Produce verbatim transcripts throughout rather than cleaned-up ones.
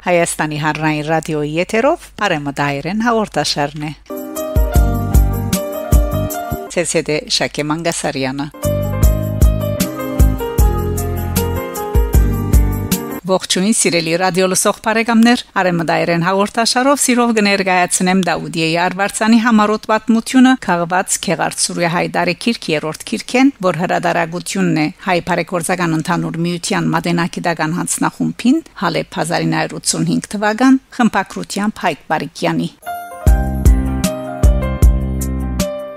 Հայաստանի Հանրային Ռադիոյի եթերով Արեմը Դայերեն հաղորդաշարն է։ Ձեզ հետ է Շակե Մանգասարյանը։ Ողջույն, սիրելի ռադիո լսող բարեկամներ, Արեմը Դայերեն հաղորդաշարով սիրով կներկայացնեմ Դաուդիեի Արվարձանի համառոտ պատմությունը, քաղուած Գեղարդ Սուրիա Հայ Դարի գիրք երրորդ գիրքէն, որ հրատարակությունն է Հայ բարեգործական ընդհանուր միութեան մատենագիտական յանձնախումբին, Հալեբ հազարին հարյուր ութսունհինգ թուական, խմբագրությամբ Հայկ Բարիկեանի։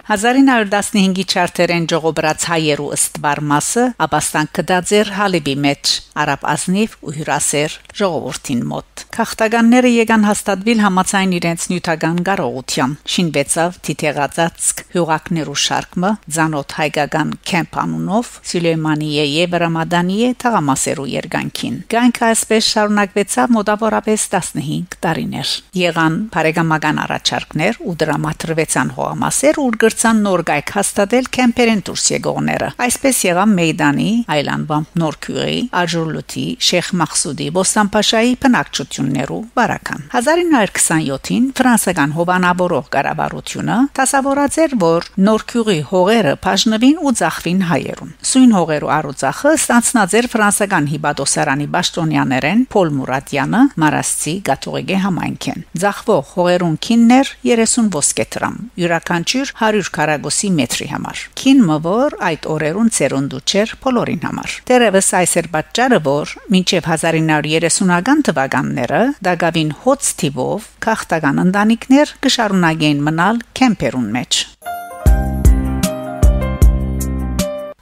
Հազարին հարյուր տասնհինգի չարթերէն ժողովրած հայերու ըստ վար մասը ապաստան գտած էր Հալեբի մէջ, արաբ ազնիվ ու հիւրասեր ժողովուրդին մօտ։ Գաղթականները եկան հաստատուիլ համաձայն իրենց նիւթական կարողութեան, շինուեցաւ դիթեղածածկ հիւղակներու շարք մը, ծանօթ հայկական քեմփ անունով, Սիլեյմանիե եւ Ռամադանիե թաղամասերու երկայնքին։ Կայքը այսպէս շարունակուեցաւ մօտաւորապէս տասնհինգ տարիներ։ Եղան բարեկամական առաջարկներ ու տրամադրուեցան հողամասեր, ուր կրցան նոր կայք հաստատել քեմփերէն դուրս եկողները։ Այսպէս եղան Մեյդանի, այլ անուամբ Նոր Գիւղի, Աջուրլութի, Շեյխ Մախսուդի, Բոստանփաշայի բնակչութիւններու վարական։ Հազարին հարյուր քսանյոթին ֆրանսական հովանավորող կառավարութիւնը դասաւորած էր, որ Նոր Գիւղի հողերը բաժնուին ու ծախուին հայերուն։ Սոյն հողերու առուծախը ստանձնած էր ֆրանսական հիպատոսարանի պաշտօնեաներէն Փոլ Մուրատեանը, Մարասցի կաթողիկէ համայնքէն։ Ծախուող հողերուն գինն էր երեսուն ոսկե դրամ, իւրաքանչիւր հարիւր քառակուսի մեթրի համար։ Գին մը, որ այդ օրերուն ծերունդու չէր բոլորին համար։ Դեռեւս այս էր պատճառը, որ մինչեւ հազարին հարյուր երեսունական թուականները տակաւին հոծ թիւով գաղթական ընտանիքներ կը շարունակէին մնալ քեմփերուն մէջ։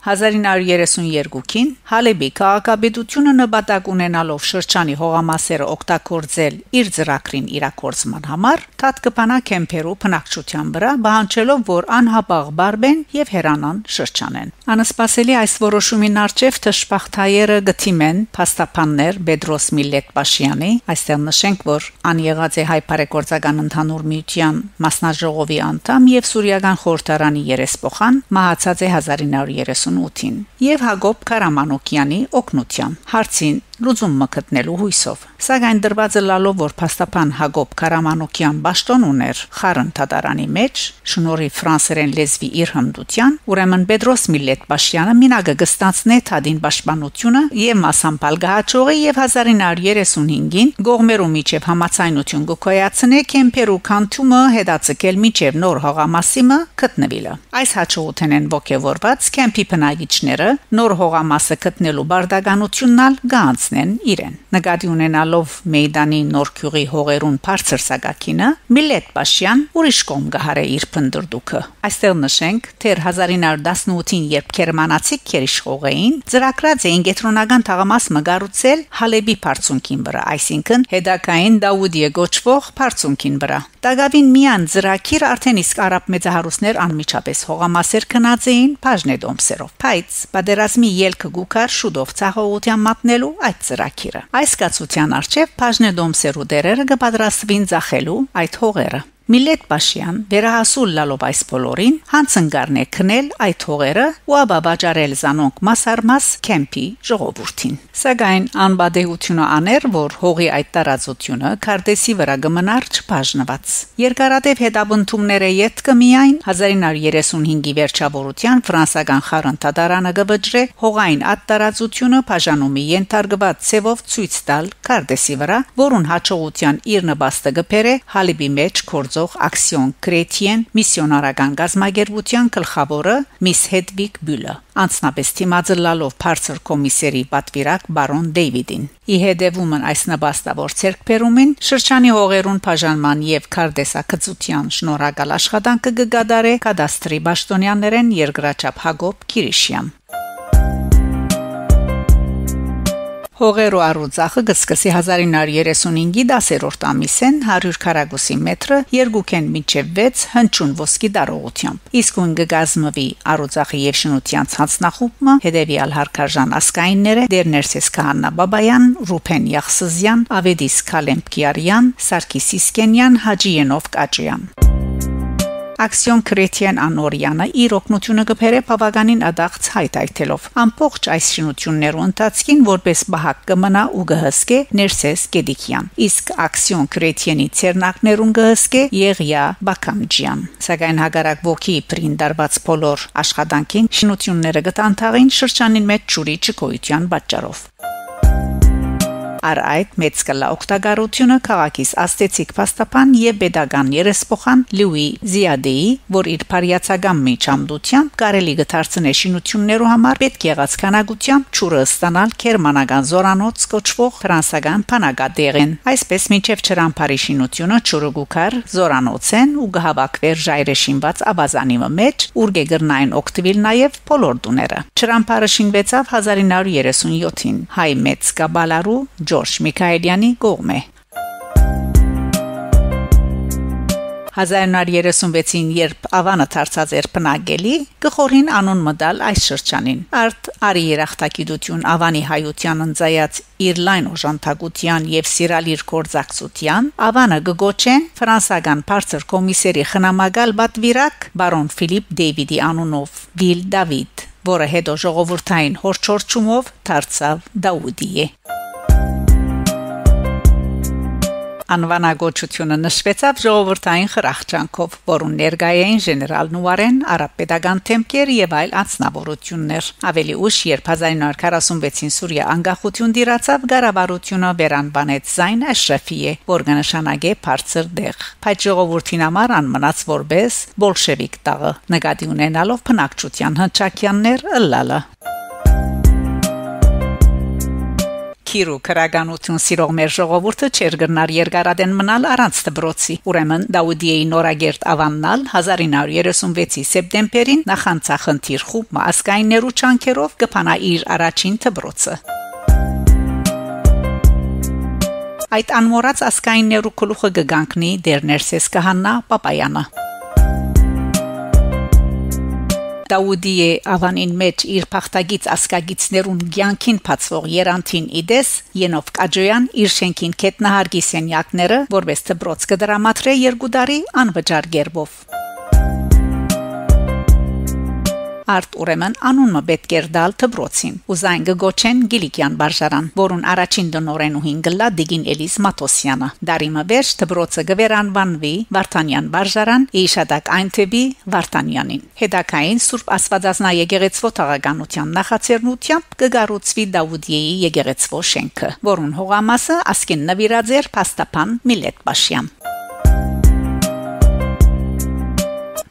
Հազարին հարյուր երեսուն երկուքին Հալեբի քաղաքապետութիւնը նպատակ ունենալով շրջանի հողամասերը օգտագործել իր ծրագրին իրագործման համար, դատ կը բանայ քեմփերու բնակչութեան վրայ, պահանջելով, որ անհապաղ պարպեն եւ հեռանան շրջանէն։ Անսպասելի այս որոշումին առջեւ դժբախտ հայերը կը դիմեն փաստաբաններ Պետրոս Միլլեթ Պաշյանի, այստեղ նշենք, որ ան եղած է Հայ բարեգործական ընդհանուր միութեան մասնաժողովի անդամ եւ Սուրիական խորհրդարանի երեսփոխան, մահացած է հազարին հարյուր երեսուն ութին, եւ Յակոբ Քարամանոկեանի օգնութեան, հարցին լուծում մը գտնելու յուսով։ Սակայն դրուած ըլլալով, որ փաստաբան Յակոբ Քարամանոկեան պաշտօն ունէր Խարն դատարանի մէջ, շնորհիւ ֆրանսերէն լեզուի իր հմտութեան, ուրեմն Պետրոս Միլլեթ Պաշյանը մինակը կը ստանձնէ դատին պաշտպանութիւնը եւ մասամբ ալ կը յաջողի, եւ հազարին հարյուր երեսուն հինգին կողմերու միջեւ համաձայնութիւն կը գոյացնէ քեմփերու քանդումը հետաձգել մինչեւ նոր հողամասի մը գտնուիլը։ Այս յաջողութենէն ոգեւորուած քեմփի բնակիչները նոր հողամասը գտնելու պարտականութիւնն ալ կը յանձնեն իրեն։ Նկատի ունենալով Մեյդանի Նոր Գիւղի հողերուն բարձր սակագինը, Միլլեթ Պաշյան ուրիշ կողմ կը յարէ իր փնտռտուքը։ Այստեղ նշենք, դեռ հազարին հարյուր տասնութին, երբ գերմանացիք գերիշխող էին, ծրագրած էին կեդրոնական թաղամաս մը կառուցել Հալեբի բարձունքին վրայ, այսինքն՝ հետագային Դաուդիե կոչուող բարձունքին վրայ։ Տակաւին միայն ծրագիրը արդէն իսկ արաբ մեծահարուստներ անմիջապէս հողամասեր գնած էին բաժնետոմսերով, բայց պատերազմի ելքը կու գար շուտով ձախողութեան մատնելու այդ ծրագիրը։ Այս կացութեան առջեւ բաժնետոմսերու տէրերը կը պատրաստուին ձախելու այդ հողերը։ Միլլեթ Պաշեան, վերահասու ըլլալով այս բոլորին, յանձն կ'առնէ քնել այդ հողերը ու ապա վաճառել զանոնք մաս առ մաս քեմփի ժողովուրդին։ Սակայն անպատեհութիւնը ան էր, որ հողի այդ տարածութիւնը քարտէսի վրայ կը մնար չբաժնուած։ Երկարատեւ հետապնդումներէ ետքը միայն հազարին հարյուր երեսուն հինգի վերջաւորութեան ֆրանսական խարն դատարանը կը վճռէ հողային այդ տարածութիւնը բաժանումի ենթարկուած ձեւով ցոյց տալ քարտէսի վրայ, որուն յաջողութեան իր նպաստը կը բերէ Հալիբի մէջ գործող Action Chrétienne միսիոնարական կազմակերպութեան գլխաւորը՝ Miss Hedwig Bühler, անձնապէս դիմաց ըլլալով բարձր կոմիսերի պատուիրակ պարոն Դեյվիդին։ Ի հետեւումն այս նպաստաւոր ձեռքբերումին, շրջանի հողերուն բաժանման եւ քարտէսագծութեան շնորհակալ աշխատանքը կը կատարէ կադաստրի պաշտօնեաներէն երկրաչափ Յակոբ Կիրիշեան։ Հողերու առուծախը կը սկսի հազար ինը հարիւր երեսունհինգի դասերորդ ամիսէն, հարիւր քառակուսի մեթրը, երկուքէն մինչեւ վեց հնչիւն ոսկի տարողութեամբ։ Իսկոյն կը կազմուի առուծախի եւ շինութեանց յանձնախումբը, հետեւեալ հարկարժան ազգայինները՝ Տէր Ներսէս Քահանա Բաբաեան, Ռուբէն Յախսզեան, Ավետիս Քալէմպ Կիարեան, Սարգիս Իսկենեան, Հաճի Ենովկ Աճոեան։ Աքսիոն Քրեթիեն Անորյանը իր օգնութիւնը կը բերէ բաւականին ատաղձ հայթայթելով։ Ամբողջ այս շինութիւններու ընթացքին որպէս պահակ կը մնայ ու կը հսկէ Ներսէս Կեդիկեան, իսկ Աքսիոն Քրեթիենի ձեռնարկներուն կը հսկէ Եղիա Բաքամջեան։ Սակայն հակառակ ոգի իբրին տարուած բոլոր աշխատանքին շինութիւնները կը տանթաղին շրջանին մէջ ջուրի չգոյութեան պատճառով։ Առ այդ մեծ կլայ օգտակարութիւնը քաղաքիս ազդեցիկ փաստաբան եւ պետական երեսփոխան Լուի Զիադեի, որ իր բարիացակամ միջամտությամբ կարելի կը դարձնէ շինութիւններու համար պետք եղած քանակութեամբ ջուրը ստանալ գերմանական զորանոց կոչուող ֆրանսական բանակատեղէն։ Այսպէս, մինչեւ Չրամբարի շինութիւնը ջուրը կու գար զորանոցէն ու կը հաւաքուէր ժայռէ շինուած աւազանի մը մէջ, ուր կը կրնային օգտուիլ նաեւ բոլոր տուները։ Չրամբարը շինուեցաւ հազար ինը հարիւր երեսուն յոթին հայ մեծ կաբալարու Ջորջ Միքայելեանի կողմէ։ Հազար ինը հարիւր երեսուն վեցին, երբ Աւանը դարձած էր բնակելի, կը խորհին անուն մտալ այս շրջանին։ Արդ արի երախտագիտութիւն Աւանի հայութեան ընծայած իր լայն օժանդակութեան եւ սիրալիր գործակցութեան, Աւանը կը կոչեն ֆրանսական բարձր կոմիսերի խնամակալ պատուիրակ բարոն Ֆիլիպ Դեյվիդի անունով Վիլ Դավիթ, որը հետո ժողովուրդային յորջորջումով դարձաւ Դաուդիե։ Անուանագոչութիւնը նշուեցաւ ժողովուրդային խրախճանքով, որուն ներկայ էին ժեներալ Նուարեն, արաբպետական դեմքեր եւ այլ անձնաւորութիւններ։ Աւելի ուշ, երբ հազար ինը հարիւր քառասուն վեցին Սուրիա անկախութիւն տիրացաւ, կառավարութիւնը վերանուանեց Զայն Էշրեֆիե, որ կը նշանակէ բարձր տեղ։ Բայց ժողովուրդին համար ան մնաց որպէս բոլշևիկ տաղը, նկատի ունենալով բնակչութեան հնչակեաններ ըլլալը։ Քիր ու քրականութիւն սիրող մեր ժողովուրդը չէր կրնար երկար ատեն մնալ առանց դպրոցի։ Ուրեմն Դաուդիեի նորակերտ Աւանն ալ հազար ինը հարիւր երեսուն վեցի սեպտեմբերին նախանցախնդիր խումբ մը ազգայիններու ջանքերով կը բանայ իր առաջին դպրոցը։ Այդ անմոռաց ազգայիններու գլուխը կը կանգնի Տեր Ներսէս Քահանա Պապայանը։ Դաուդիե Աւանին մէջ իր փախտագից ազգագիցներուն կեանքին բացուող երանդին ի տես Ենովք Աճոեան իր շէնքին գետնահարկի սենեակները որպէս դպրոց կը տրամադրէ երկու տարի անվճար կերպով։ Արդ ուրեմն անուն մը պէտք էր տալ դպրոցին, ու զայն կը կոչեն Կիլիկեան վարժարան, որուն առաջին տնօրէնուհին կ'ըլլայ տիկին Էլիս Մաթոսեանը։ Տարի մը վերջ դպրոցը կը վերանուանուի Վարդանեան վարժարան, ի իշատակ այն թեւի Վարդանեանին։ Հետագային Սուրբ Աստուածազնայ եկեղեցւոյ թաղականութեան նախաձեռնութեամբ կը կառուցուի Դաուդիեի եկեղեցւոյ շէնքը, որուն հողամասը ասկէն նուիրած էր փաստաբան Միլետ Պաշեան։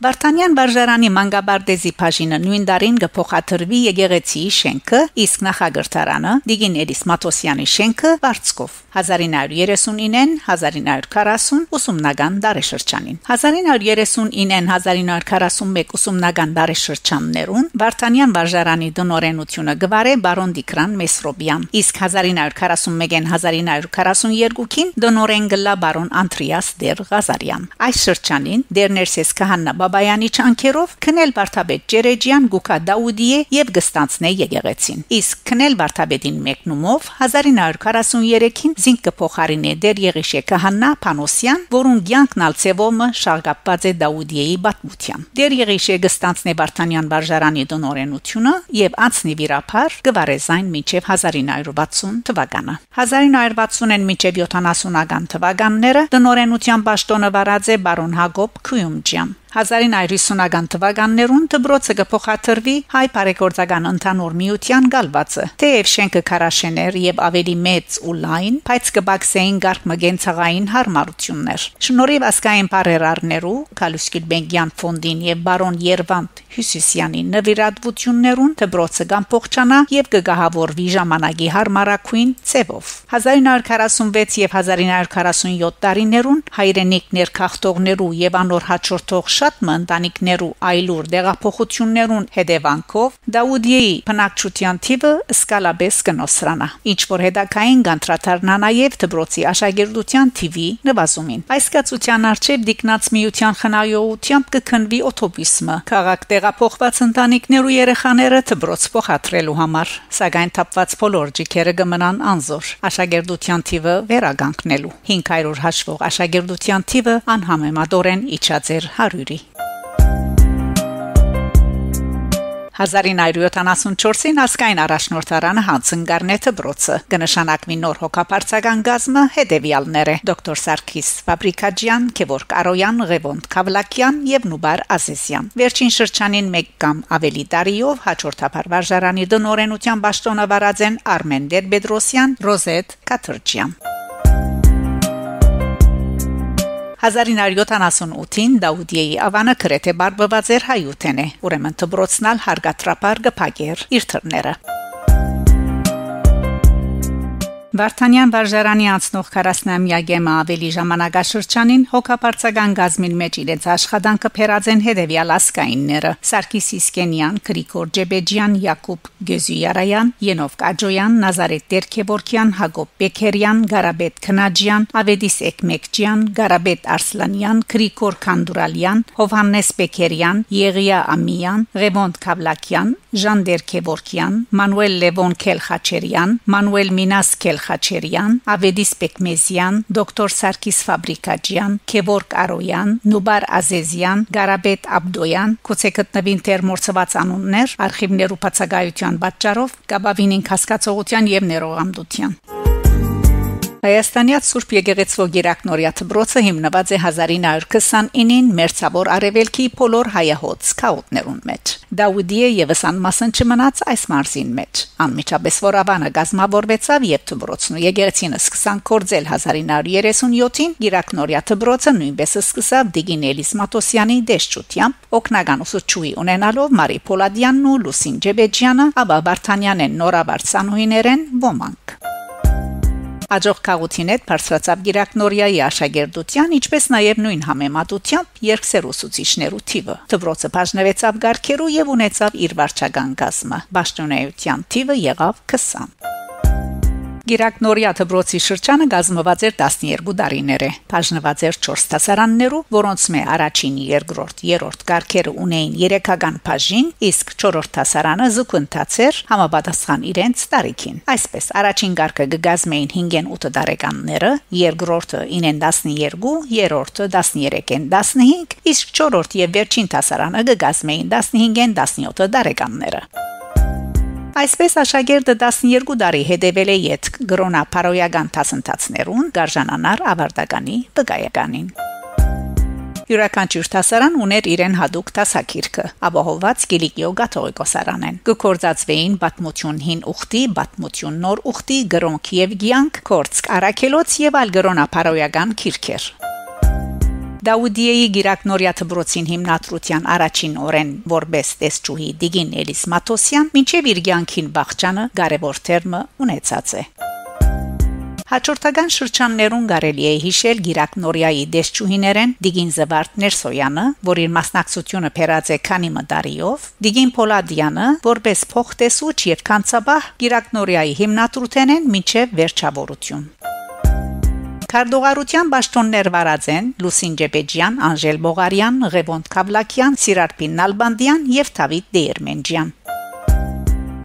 Վարդանեան վարժարանի մանկապարտեզի բաժինը նոյն տարին կը փոխադրուի եկեղեցիի շէնքը, իսկ նախակրթարանը՝ տիկին Էլիս Մաթոսեանի շէնքը, վարձքով։ Հազար ինը հարիւր երեսուն ինը, հազար ինը հարիւր քառասուն ուսումնական տարեշրջանին։ Հազար ինը հարիւր երեսուն ինը, հազար ինը հարիւր քառասուն մէկ ուսումնական տարեշրջաններուն Վարդանեան վարժարանի տնօրէնութիւնը կը վարէ բարոն Տիգրան Մեսրոպեան, իսկ հազար ինը հարիւր քառասուն մէկ, հազար ինը հարիւր քառասուն երկուքին տնօրէն կ'ըլլայ բարոն Անդրեաս Տեր Ղազարեան։ Այս շրջանին Տեր Ներսէս Քահանա Բաբայանի ջանքերով քնել վարդապետ Ճերեջեան կու գայ Դաուդիե եւ կը ստանձնէ եկեղեցին, իսկ քնել վարդապետին մեկնումով հազար ինը հարիւր քառասուն երեքին զինք կը փոխարինէ Տեր Եղիշէ Քահանա Փանոսեան, որուն կեանքն ալ ձեւով մը շաղկապուած է Դաուդիեի պատմութեան։ Տեր Եղիշէ կը ստանձնէ Վարդանեան վարժարանի տնօրէնութիւնը եւ անցնի վիրաբար, կը վարէ զայն մինչեւ հազար ինը հարիւր վաթսուն թուականը։ Հազար ինը հարիւր վաթսունէն մինչեւ յոթանասունական թուականները տնօրէնութեան պաշտօնը վարած է բարոն Յակոբ Քիումջեան։ Հազար ինը հարիւր յիսունական թուականներուն դպրոցը կը փոխադրուի Հայ բարեգործական ընդհանուր միութեան կալուածը։ Թէեւ շէնքը քարաշէն էր եւ աւելի մեծ ու լայն, բայց կը պակսէին կարգ մը կենցաղային յարմարութիւններ։ Շնորհիւ ազգային բարերարներու, Գալուստ Գիլբենկեան ֆոնդին եւ բարոն Երվանդ Հիւսիսեանի նուիրատուութիւններուն դպրոցը կ'ամբողջանայ եւ կը կահաւորուի ժամանակի յարմարագոյն ձեւով։ Հազար ինը հարիւր քառասուն վեց եւ հազար ինը հարիւր քառասուն յոթ տարիներուն հայրենիք ներգաղթողներու եւ անոր յաջորդող շատ մը ընտանիքներու այլուր տեղափոխութիւններուն հետեւանքով Դաուդիեի բնակչութեան թիւը սկսելապէս կը նոսրանայ, ինչ որ հետագային կ'անդրադառնայ նաեւ դպրոցի աշակերտութեան թիւի նուազումին։ Այս կացութեան առջեւ տիկնանց միութեան խնայողութեամբ կը քննուի օթոպիզմը՝ քաղաք տեղափոխուած ընտանիքներու երեխաները դպրոց փոխադրելու համար, սակայն թափուած բոլոր ճիգերը կը մնան անզօր՝ աշակերտութեան թիւը վերականգնելու։ Հինգ հարիւր հաշուող աշակերտութեան թիւը անհամեմատօրէն իջած էր հարիւրի։ Հազարին հարիւր յոթանասուն չորսին ազգային առաջնորդարանը յանձն կ'առնէ դպրոցը։ Կը նշանակուի նոր հոգաբարձական կազմը հետեւեալներ է. դոկտոր Սարգիս Ֆաբրիքաճեան, Գևորգ Արոյան, Ղեւոնդ Քավլակեան եւ Նուբար Ազեզեան։ Վերջին շրջանին մէկ կամ աւելի տարիով հաջորդաբար վարժարանի տնօրէնութեան պաշտօնը վարած են Արմէն Տեր-Պետրոսեան, Ռոզետ Քաթրճեան։ Հազարին հարիւր յոթանասուն ութին Դաուդիեի աւանը գրեթէ բարբուած էր հայութենէ, ուրեմն դպրոցն ալ հարգատրաբար կը փակէր իր դռները։ Վարդանեան վարժարանի անցնող քառասնամեակէ մը աւելի ժամանակաշրջանին հոգաբարձական կազմին մէջ իրենց աշխատանքը բերած են հետեւեալ ազգայինները՝ Սարգիս Իսկենեան, Գրիգոր Ջեբեջեան, Յակուբ Գյոզիարաեան, Ենովկ Աջոեան, Նազարեթ Տեր-Գևորգեան, Յակոբ Պեքերեան, Գարաբեթ Քնաջեան, Ավետիս Էկմեկճեան, Գարաբեթ Արսլանեան, Գրիգոր Քանդուրալեան, Յովհաննէս Պեքերեան, Եղիա Ամիեան, Ղեւոնդ Քավլակեան, Ժան Տեր-Գևորգեան, Մանուել Լեւոն Քելխաչերեան, Մանուել Մինաս Քելխաչերեան, Ավետիս Պեկմեզեան, դոկտոր Սարգիս Ֆաբրիքաճեան, Գևորգ Արոեան, Նուբար Ազեզեան, Գարաբեթ Աբդոյեան, գուցե գտնուին դեռ մոռցուած անուններ, արխիւներու բացակայութեան պատճառով, կապաւին ինքնազգացողութեան եւ ներողամտութեան։ Հայաստանեայ Սուրբ Եկեղեցւոյ Կիրակնորեայ դպրոցը հիմնուած է հազարին հարիւր քսանինին մերձաւոր արեւելքի բոլոր հայահոծ գաղութներուն մէջ։ Դաուդիե եւս անմասն չմնաց այս մարզին մէջ։ Անմիջապէս որ աւանը կազմաւորուեցաւ եւ դպրոցն ու եկեղեցին սկսան գործել հազարին հարիւր երեսուն յոթին, Կիրակնորեայ դպրոցը նոյնպէս սկսաւ տիկին Էլիս Մաթոսեանի տեսչութեամբ, օգնական ուսուցչուհի ունենալով Մարի Փոլադեանն ու Լուսին Ջեբեջեանը, ապա Վարդանեանէն նորավարտ սանուհիներէն ոմանք։ Աջող գաղութին հետ բարձրացաւ Կիրակնորեայի աշակերտութեան, ինչպէս նաեւ նոյն համեմատութեամբ երկսեռ ուսուցիչներու թիւը։ Դպրոցը բաժնուեցաւ կարգերու եւ ունեցաւ իր վարչական կազմը։ Պաշտօնէայութեան թիւը եղաւ քսան։ Կիրակնորեայ դպրոցի շրջանը կազմուած էր տասներկու տարիներէ, բաժնուած էր չորս դասարաններու, որոնցմէ առաջին, երկրորդ, երրորդ կարգերը ունէին երեքական բաժին, իսկ չորրորդ դասարանը զուգընթաց էր համապատասխան իրենց տարիքին։ Այսպէս, առաջին կարգը կը կազմէին հինգէն ութ տարեկանները, երկրորդը ինէն տասներկու, երրորդը տասներեքէն տասնհինգ, իսկ չորրորդ եւ վերջին դասարանը կը կազմէին տասնհինգէն տասնեօթ տարեկանները։ Այսպէս, աշակերտը տասներկու տարի հետեւելէ ետք կրոնապարոյական դասընթացներուն, կ'արժանանար աւարտականի վկայականին։ Իւրաքանչիւր դասարան ունէր իրեն յատուկ դասագիրքը, ապահովուած Կիլիկիոյ կաթողիկոսարանէն։ Կը գործածուէին Պատմութիւն հին ուխտի, Պատմութիւն նոր ուխտի, Կրօնք եւ կեանք, Գործք առաքելոց եւ այլ կրոնապարոյական գիրքեր։ Դաուդիեի Կիրակնորեայ դպրոցին հիմնադրութեան առաջին օրէն որպէս տեսչուհի տիկին Էլիս Մաթոսեան մինչեւ իր կեանքին վախճանը կարեւոր թերմը ունեցած է։ Հաջորդական շրջաններուն կարելի է յիշել Կիրակնորեայի տեսչուհիներէն տիկին Զվարթ Ներսոյանը, որ իր մասնակցութիւնը բերած է քանի մը տարիով, տիկին Փոլադեանը, որպէս փոխտեսուչ եւ գանձապահ Կիրակնորեայի հիմնադրութենէն մինչեւ վերջաւորութիւն։ Քարտուղարութեան պաշտօններ վարած են Լուսին Ջեբեջեան, Անժել Բողարեան, Ղեւոնդ Քավլակեան, Սիրարփին Նալբանդեան եւ Դաւիթ Տեերմենջեան։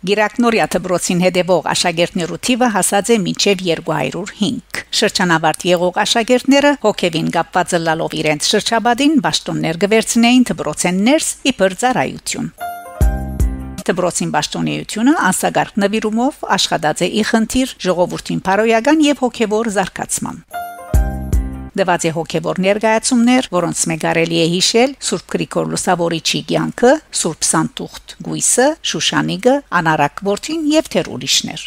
Կիրակնորեայ դպրոցին հետեւող աշակերտներու թիւը հասած է մինչեւ երկու հարիւր հինգ։ Շրջանաւարտ եղող աշակերտները հոգեւին կապուած ըլլալով իրենց շրջապատին պաշտօններ կը վերցնէին դպրոցէն ներս իբր ծառայութիւն։ Դպրոցին պաշտօնէութիւնը անսակարկ նուիրումով աշխատած է ի խնդիր ժողովուրդին բարոյական եւ հոգեւոր զարգացման։ Տուած է հոգեւոր ներկայացումներ, որոնցմէ կարելի է յիշել Սուրբ Գրիգոր Լուսաւորիչի կեանքը, Սուրբ Սանտուխտ կոյսը, Շուշանիկը, Անառակ որդին եւ դեռ ուրիշներ։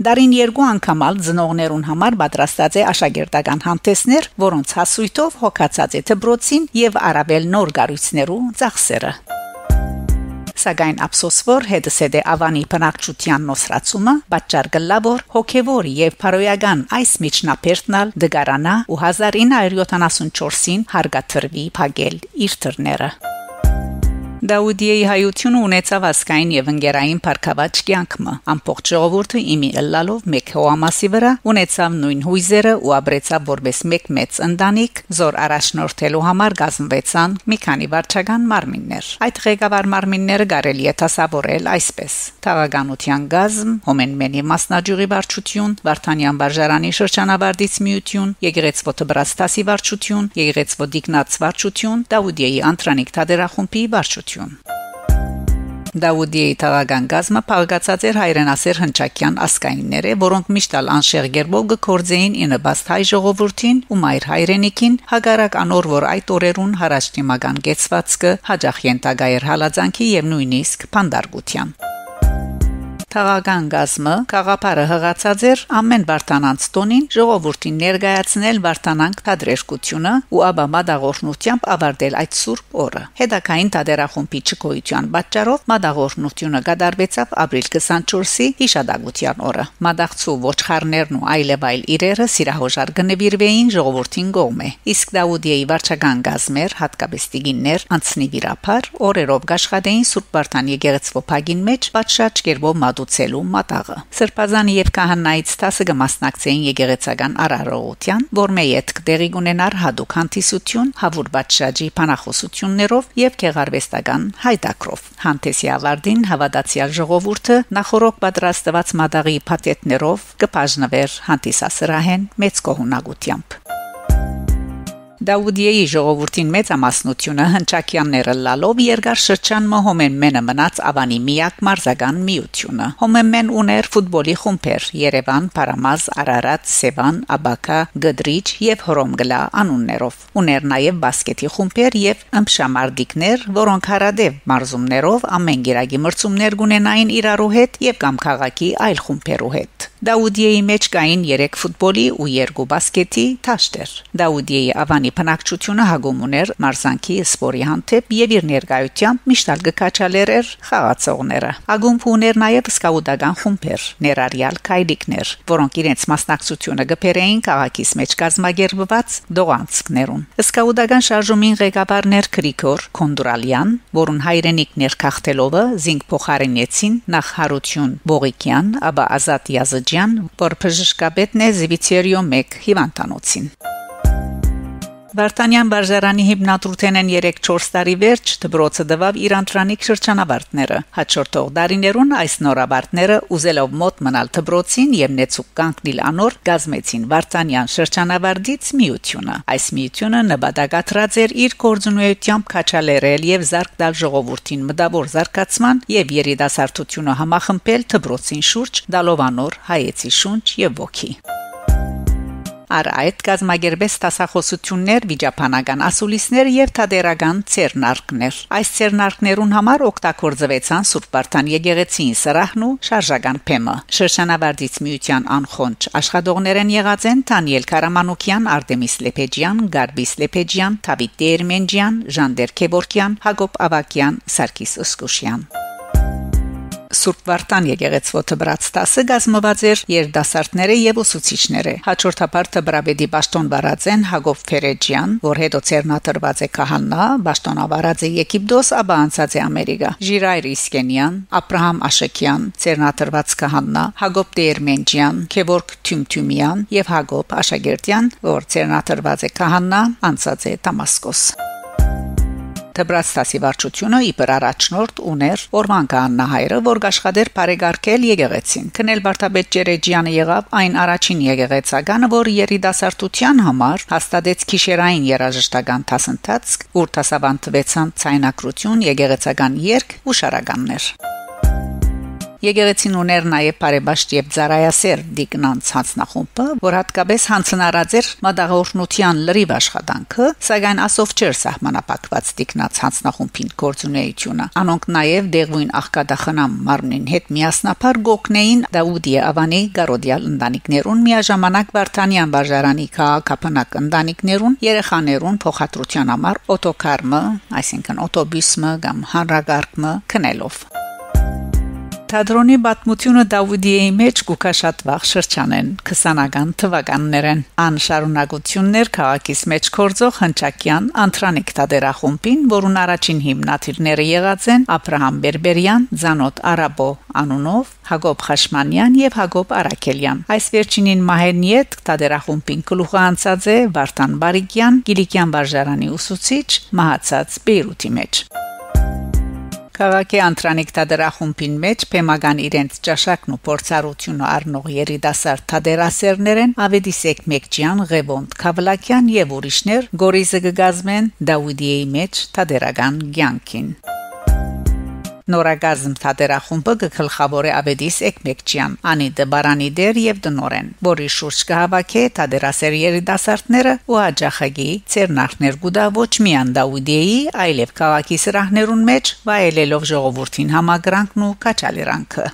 Դարին երկու անգամ ալ ծնողներուն համար պատրաստած է աշակերտական հանդէսներ, որոնց հասոյթով հոգացած է դպրոցին եւ առաւել նոր կառոյցներու ծախսերը։ Սակայն ափսոս որ հետզհետէ աւանի բնակչութեան նոսրացումը պատճառ կ'ըլլայ, որ հոգեւոր եւ բարոյական այս միջնաբերդն ալ կկարանայ ու հազար ինը հարիւր յոթանասուն չորսին հարկադրուի փակել իր դռները։ Դաուդիեի հայութիւնը ունեցաւ ազգային եւ ընկերային բարգաւաճ կեանք մը։ Ամբողջ ժողովուրդը իմի ըլլալով մէկ հողամասի վրայ ունեցաւ նոյն յոյզերը ու ապրեցաւ որպէս մէկ մեծ ընտանիք, զոր առաջնորդելու համար կազմուեցան մի քանի վարչական մարմիններ։ Այդ ղեկավար մարմինները կարելի է դասաւորել այսպէս. թաղականութեան կազմ, Հոմէնմէնի մասնաճիւղի վարչութիւն, Վարդանեան վարժարանի շրջանավարտից միութիւն, Եկեղեցւոյ դպրաստասի վարչութիւն, Եկեղեցւոյ տիկնած վարչութիւն, Դաուդիեի Անդրանիկ թատերախումբի վարչութիւն։ Դաուդիեի թաղական կազմը փաղկացած էր հայրենասէր հնչակեան ազգայիններէ, որոնք միշտ ալ անշեղ կերպով կը գործէին ի նպաստ հայ ժողովուրդին ու մայր հայրենիքին, հակառակ անոր, որ այդ օրերուն յառաջդիմական կեցուածքը յաճախ ենթակայ էր հալածանքի եւ նոյնիսկ բանտարկութեան։ Թաղական կազմը գաղափարը յղացած էր ամէն Վարդանանց տօնին ժողովուրդին ներկայացնել Վարդանանք թատրերկութիւնը ու ապա մատաղօրհնութեամբ ավարտել այդ սուրբ օրը։ Հետագային թատերախումբի չգոյութեան պատճառով մատաղօրհնութիւնը կատարուեցաւ ապրիլ քսանչորսի յիշատակութեան օրը։ Մատաղցու ոչխարներն ու այլեւայլ իրերը սիրահոժար կը նուիրուէին ժողովուրդին կողմէ, իսկ Դաուդիեի վարչական կազմեր, հատկապես տիկիններ, անցնիվիրաբար օրերով կաշխատէին Սուրբ Վարդան եկեղեցւոյ փակին մէջ պատշաճ կերպով մատուցելու մատաղը։ Սրբազան եւ քահանայից դասը կը մասնակցէին եկեղեցական արարողութեան, որմէ ետք տեղի կունենար յատուկ հանդիսություն, հաւուր պատշաճի բանախօսութիւններով եւ գեղարուեստական հայտակրով։ Հանդէսի ավարտին հաւատացեալ ժողովուրդը նախօրոք պատրաստուած մատաղի փաթեթներով կը բաժնուէր հանդիսասրահէն մեծ գոհունակութեամբ։ Դաուդիեի ժողովուրդին մեծամասնութիւնը հնչակեաններ ըլլալով երկար շրջան մը Հոմեմմէնը մնաց Ավանի միակ մարզական միութիւնը։ Հոմեմմէն ունէր ֆուտբոլի խումբեր՝ Երեւան, Փարամազ, Արարատ, Սեւան, Աբակա, Կդրիչ եւ Հռոմկլա անուններով։ Ունէր նաեւ բասկեթի խումբեր եւ ըմբշամարտիկներ, որոնք յարատեւ մարզումներով ամէն կիրակի մրցումներ կունենային իրարու հետ եւ կամ քաղաքի այլ խումբերու հետ։ Դաուդիեի մէջ կային երեք ֆուտբոլի ու երկու բասկեթի դաշտեր։ Դաուդիեի Ավանի բնակչութիւնը հակում ունէր մարզանքի սպորի հանդէպ եւ իր ներկայութեամբ միշտ ալ կը քաջալերէր խաղացողները։ Ակումբը ունէր նաեւ սկաուտական խումբեր, ներառեալ քայլիկներ, որոնք իրենց մասնակցութիւնը կը բերէին քաղաքիս մէջ կազմակերպուած դողանցքներուն։ Սկաուտական շարժումին ղեկավարն էր Գրիգոր Կոնդուրալեան, որուն հայրենիքն էր Գաղթելովը, զինք փոխարինեցին նախ Յարութիւն Բողիկեան, ապա Ազատ Յազիջեան, որ բժշկապետն է Զիվիցերիոյ մէկ հիւանդանոցին։ Վարդանեան վարժարանի հիմնադրութենէն երեք-չորս տարի վերջ դպրոցը տուաւ իր անդրանիկ շրջանավարտները։ Հաջորդող տարիներուն այս նոր ավարտները, ուզելով մօտ մնալ դպրոցին եւ նեցուկ կանգնիլ անոր, կազմեցին Վարդանեան շրջանավարտից միութիւնը։ Այս միութիւնը նպատակադրած էր իր գործունեութեամբ քաջալերել եւ զարկ տալ ժողովուրդին մտաւոր զարգացման եւ երիտասարդութիւնը համախմբել դպրոցին շուրջ, տալով անոր հայեցի շունչ եւ ոգի։ Առ այդ կազմակերպեց դասախօսութիւններ վիճաբանական ասուլիսներ եւ թատերական ձեռնարկներ։ Այս ձեռնարկներուն համար օգտագործուեցան Սուրբ Վարդան եկեղեցին սրահն ու շարժական բեմը։ Շրջանավարտից միութեան անխոնջ աշխատողներէն եղած են Դանիել Կարամանուկեան, Արտեմիս Լեփեջեան, Գարբիս Լեփեջեան, Դավիթ Տերմենջեան, Ժանդեր Քեվորքեան, Հակոբ Ավակեան, Սարգիս Ուսկուշեան։ Սուրբ Վարդան եկեղեցւոյ դպրաց դասը կազմուած էր երիտասարդներէ եւ ուսուցիչներէ։ Հաջորդաբար դպրապետի պաշտօն վարած են Հակոբ Ֆերեջեան, որ հետո ձեռնադրուած է քահանա, պաշտօնավարած է Եգիպտոս, ապա անցած է Ամերիկա, Ժիրայր Իսկենեան, Աբրահամ Աշակեան, ձեռնադրուած քահանա, Հակոբ Տերմենջեան, Գևորգ Թյումթյումեան եւ Հակոբ Աշակերտեան, որ ձեռնադրուած է քահանա, անցած է Դամասկոս։ Դպրաց դասի վարչութիւնը իբր առաջնորդ ունէր Օրման քահանա հայրը, որ կաշխատէր բարեկարգել եկեղեցին։ Քնել վարդապետ Ջերեջեանը եղաւ այն առաջին եկեղեցականը, որ երիտասարդութեան համար հաստատեց գիշերային երաժշտական դասընթացք, ուր դասաւանդուեցան ձայնագրութիւն, եկեղեցական երգ ու շարականներ։ Եկեղեցին ունէր նաեւ բարեպաշտ եւ ծառայասեր տիկնանց յանձնախումբը, որ յատկապես յանձնարարած էր մատաղօրհնութեան լրիվ աշխատանքը, սակայն ասով չէր սահմանափակուած տիկնանց յանձնախումբին գործունեութիւնը։ Անոնք նաեւ դեղոյն աղքատախնամ մարմնին հետ միասնաբար կ'օգնէին Դաուդիե Ավանի կարօտեալ ընտանիքներուն, միաժամանակ Վարդանեան վարժարանի քաղաքաբնակ ընտանիքներուն, երեխաներուն փոխադրութեան համար օտոկար մը, այսինքն օտոբուս մը կամ հանրակառք մը գնելով։ Թատրոնի պատմութիւնը Դաուդիեի մէջ կու գայ շատ վաղ շրջանէն, քսանական թուականներէն։ Ան շարունակութիւնն էր քաղաքիս մէջ գործող հնչակեան Անդրանիկ թատերախումբին, որուն առաջին հիմնադիրները եղած են Աբրահամ Բերբերեան, Զանոթ Արաբո անունով, Հակոբ Խաշմանեան եւ Հակոբ Արաքելեան։ Այս վերջինին մահէն ետք թատերախումբին գլուխը անցած է Վարդան Բարիկեան, Կիլիկեան վարժարանի ուսուցիչ, մահացած Պէյրութի մէջ։ Քաղաքի Անդրանիկ թատերախումբին մէջ բեմական իրենց ճաշակն ու փորձառութիւնը առնող երիտասարդ թատերասերներ են Ավետիսեկ Մեկջեան, Ղեւոնդ Քավլակեան եւ ուրիշներ, կորիզը կը կազմեն Դաուդիեի մէջ թատերական կեանքին։ Նորակազմ թատերախումբը կը գլխաւորէ Ավետիս Էկմեկչեան, Անիտը Բարանիտեր եւ տնօրէն, որ իր շուրջ կը հաւաքէ թատերասէր երիտասարդները ու յաճախակի ձեռնարկներ կու տայ ոչ միայն Դաուդիեի, այլեւ քաղաքի սրահներուն մէջ, վայելելով ժողովուրդին համակրանքն ու քաջալերանքը։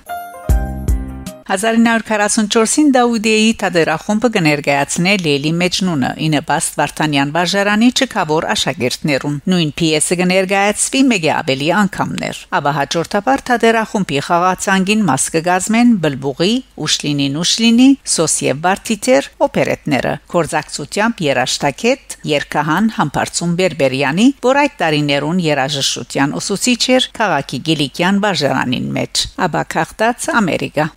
Հազար ինը հարիւր քառասուն չորսին Դաուդիեի թատերախումբը կը ներկայացնէ Լեյլի Մեջնունը, ի նպաստ Վարդանեան վարժարանի չքաւոր աշակերտներուն։ Նոյն պիեսը կը ներկայացուի մէկէ աւելի անգամներ։ Ապա հաջորդաբար թատերախումբի խաղացանկին մաս կը կազմեն Բլբուղի, Ուշլինի Նուշլինի, Սոս եւ Վարդիթեր օպերետները, գործակցությամբ երաժշտագէտ, երգահան Համբարձում Բերբերեանի, որ այդ տարիներուն երաժշտութեան ուսուցիչ էր քաղաքի Կիլիկեան վարժարանին մէջ, ապա գաղթած Ամերիկա։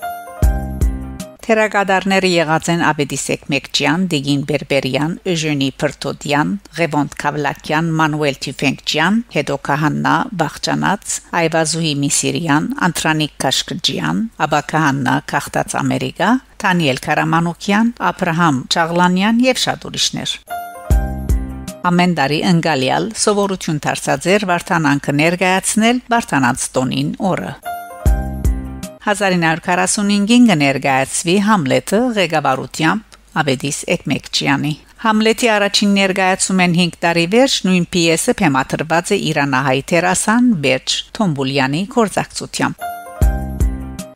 Թերակատարները եղած են Ավետիս Էկմեկչեան, Տիգին Բերբերեան, Էժենի Փրթոտեան, Ղեւոնդ Քավլակեան, Մանուել Թիֆենկչեան, հետո Քահաննա Բաղճանաց, Այվազուհի Միսիրեան, Անդրանիկ Քաշքջեան, ապա Քահաննա գաղթած Ամերիկա, Դանիել Քարամանուկեան, Աբրահամ Չաղլանեան եւ շատ ուրիշներ։ Ամէն տարի ընկալեալ սովորութիւն դարձած էր Վարդանանքը ներկայացնել Վարդանանց տօնին օրը։ Հազար ինը հարիւր քառասուն հինգին կը ներկայացուի Համլէտը ղեկավարութեամբ Ավետիս Էկմեկչեանի։ Համլէտի առաջին ներկայացումէն հինգ տարի վերջ նոյն պիեսը բեմադրուած է իրանահայ դերասան Բերջ Թոմբուլեանի գործակցությամբ։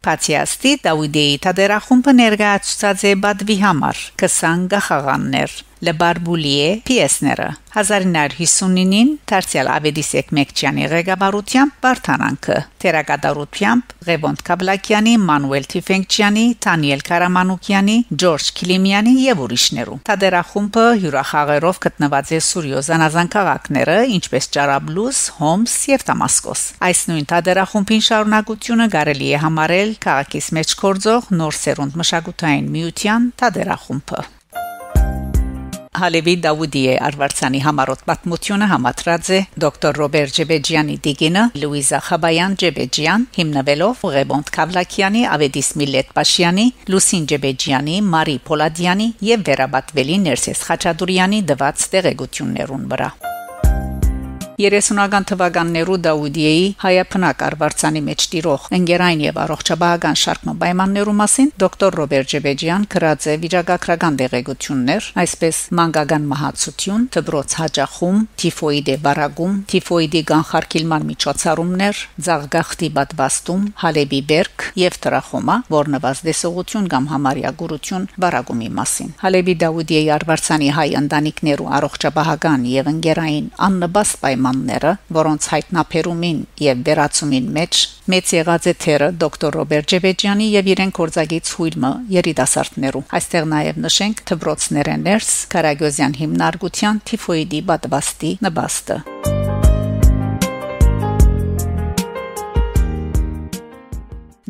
Բացի աստի, Դաուդիեի թատերախումբը ներկայացուցած է պատուի համար քսան գահաղաններ, Լը Բարբուլիե պիեսները։ Հազար ինը հարիւր հիսունինին դարձեալ Ավետիս Էկմեկչեանի ղեկավարութեամբ Վարդանանքը, թերակատարութեամբ Ղեւոնդ Քավլակեանի, Մանուել Թիֆենկչեանի, Դանիել Քարամանուկեանի, Ջորջ Քիլիմեանի եւ ուրիշներու։ Թատերախումբը հիւրախաղերով գտնուած է Սուրիոյ զանազան քաղաքները, ինչպէս Ճարաբլուս, Հոմս եւ Դամասկոս։ Այս նոյն թատերախումբին շարունակութիւնը կարելի է համարել քաղաքիս մէջ գործող Նոր Սերունդ մշակութային միութեան թատերախումբը։ Հալէպի Դաուդիե արուարձանի համառոտ պատմութիւնը համադրած է դոկտոր Ռոբեր Ջեբեջեանի տիկինը Լուիզա Խաբայան Ջեբեջեան, հիմնուելով Ղեւոնդ Քավլակեանի, Ավետիս Միլլեթ Պաշեանի, Լուսին Ջեբեջեանի, Մարի Փոլադեանի եւ վերապատուելի Ներսէս Խաչատուրեանի տուած տեղեկութիւններուն վրայ։ Երեսունական թուականներու Դաուդիեի հայաբնակ արուարձանի մէջ տիրող ընկերային եւ առողջապահական շարք մը պայմաններու մասին դոկտոր Ռոբեր Ջեբեջեան գրած է վիճակագրական տեղեկութիւններ, այսպէս՝ մանկական մահացութիւն, դպրոց յաճախում, թիֆոիդի վարակում, թիֆոիդի կանխարգիլման միջոցառումներ, ձաղկախտի պատվաստում, Հալէպի բերք եւ տրախոմա, որ նուազդեսողութիւն կամ համարեա կուրութիւն վարակումի մասին։ Հալէպի Դաուդիեի արուարձանի հայ ընտանիքներու առողջապահական եւ ընկերային աննպաստ պայմանները, որոնց յայտնաբերումին եւ վերացումին մէջ մեծ եղած է դերը դոկտոր Ռոբեր Ջեբեջեանի եւ իրեն գործակից յոյլ մը երիտասարդներու։ Այստեղ նաեւ նշենք դպրոցներէ ներս Կարագյոզեան հիմնարկութեան թիֆոիդի պատվաստի նպաստը։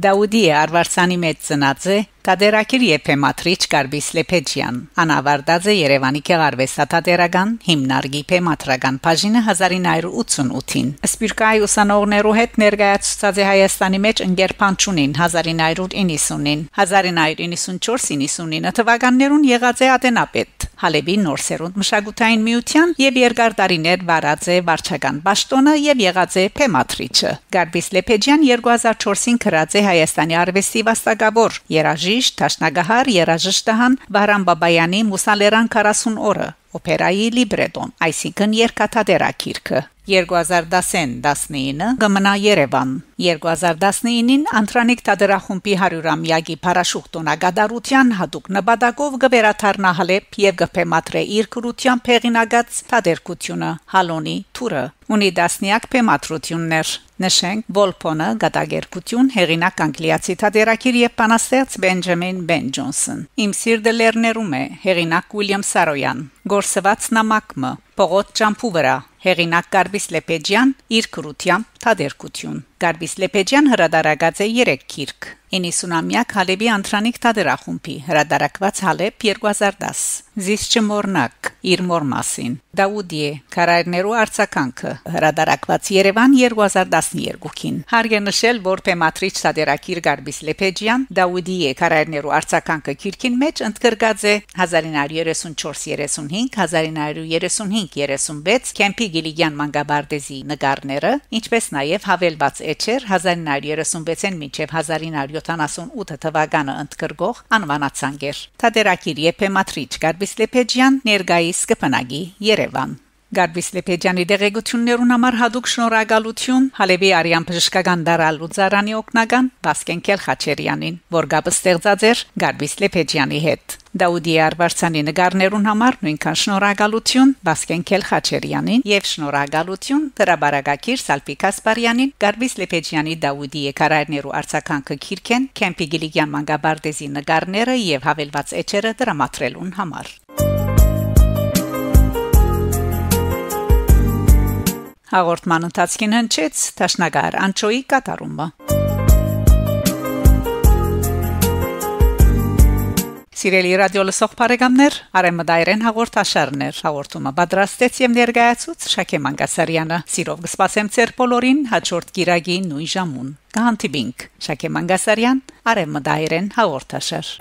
Դաուդիե արուարձանի մէջ ծնած է թատերագիր եւ բեմադրիչ Կարպիս Լեփեջեան։ Ան աւարտած է Երեւանի գեղարուեստաթատերական հիմնարկի բեմադրական բաժինը հազար ինը հարիւր ութսուն ութին։ Սփիւռքահայ ուսանողներու հետ ներկայացուցած է Հայաստանի մէջ ընկեր Փանչունին հազար ինը հարիւր իննսունին, հազար ինը հարիւր իննսուն չորս իննսունինը թվականներուն եղած է ատենապետ, Հալէպի Նոր Սերունդ մշակութային միութեան եւ երկար տարիներ վարած է վարչական պաշտօնը եւ եղած է բեմադրիչը։ Կարպիս Լեփեջեան երկու հազար չորսին գրած է Հայաստանի արուեստի վաստակաւոր, երաժիշտ, դաշնակահար, երաժշտահան Վահրամ Բաբայանի Մուսա Լերան քառասուն օրը օփերայի լիբրետոն, այսինքն՝ երկաթատերագիրքը։ Երկու հազար տասին տասնինը կը մնայ Երեւան։ Երկու հազար տասնինին Անդրանիկ թատերախումբի հարիւրամեակի փառաշուղ տօնակատարութեան յատուկ նպատակով կը վերադառնայ Հալէպ եւ կը բեմադրէ իր գրութեամբ հեղինակած թատերգութիւնը Հալոնի թուրը։ Ունի տասնեակ բեմադրութիւններ։ Նշենք Վոլփոնը, կատակերգութիւն, հեղինակ անգլիացի թատերագիր եւ բանաստեղծ Բենջամին Բեն Ջոնսոն։ Իմ սիրտը լեռներում է, հեղինակ Ուիլյամ Սարոյան։ Գործուած նամակ մը, Պողոտ ճամբու վրայ, հեղինակ Կարպիս Լեփեջեան, իր գրութեամբ թատերգութիւն։ Կարպիս Լեփեջեան հրատարակած է երեք գիրք. Իննսունամեակ Հալէպի Անդրանիկ թատերախումբի, հրատարակուած Հալէպ երկու հազար տաս, Զիս չմոռնաք, իր մօր մասին, Դաուդիե, քարայրներու արձագանքը, հրատարակուած Երեւան երկու հազար տասներկուին։ Հարկ է նշել, որ բեմադրիչ թատերագիր Կարպիս Լեփեջեան Դաուդիե, քարայրներու արձագանքը գիրքին մէջ ընդգրկած է հազար ինը հարիւր երեսուն չորս երեսուն հինգ, հազար ինը հարիւր երեսուն հինգ երեսուն վեց Քեմփի Կիլիկեան մանկապարտեզի նկարները, ինչպէս նաեւ Յաւելուած էջեր հազար ինը հարիւր երեսունվեցէն մինչեւ հազար ինը հարիւր յոթանասունութ թուականը ընդգրկող անուանացանկեր։ Թատերագիր եփեմատրիչ Կարպիս Լեփեջեան ներկայիս կը բնակի Երեւան։ Գարպիս Լեփեջեանի տեղեկութիւններուն համար յատուկ շնորհակալութիւն Հալէպի Արեան բժշկական տարալու ծառանի օգնական Վասկեն Քելխաչերեանին, որ կապ ստեղծած էր Գարպիս Լեփեջեանի հետ։ Դաուդի Արվարձանի նկարներուն համար նոյնքան շնորհակալութիւն Վասկեն Քելխաչերեանին եւ շնորհակալութիւն հրապարակագիր Սալպի Գասպարեանին Գարպիս Լեփեջեանի Դաուդի եկարայրներու արձագանքը գիրքէն Քեմփի Կիլիկեան մանկապարտեզի նկարները եւ Յաւելուած էջերը դրամատրելուն համար։ Հաղորդման ընթացքին հնչեց Դաշնակահար Անչոյի կատարումը։ Սիրելի ռադիո լսող բարեկամներ, Արեւմտայերէն հաղորդաշարներ հաղորդումը պատրաստեց եւ ներկայացուց Շաքե Մանգասարեանը։ Սիրով կսպասեմ ձեր բոլորին հաջորդ կիրակի նոյն ժամուն։ Կհանդիպինք։ Շաքե Մանգասարեան, Արեւմտայերէն հաղորդաշար։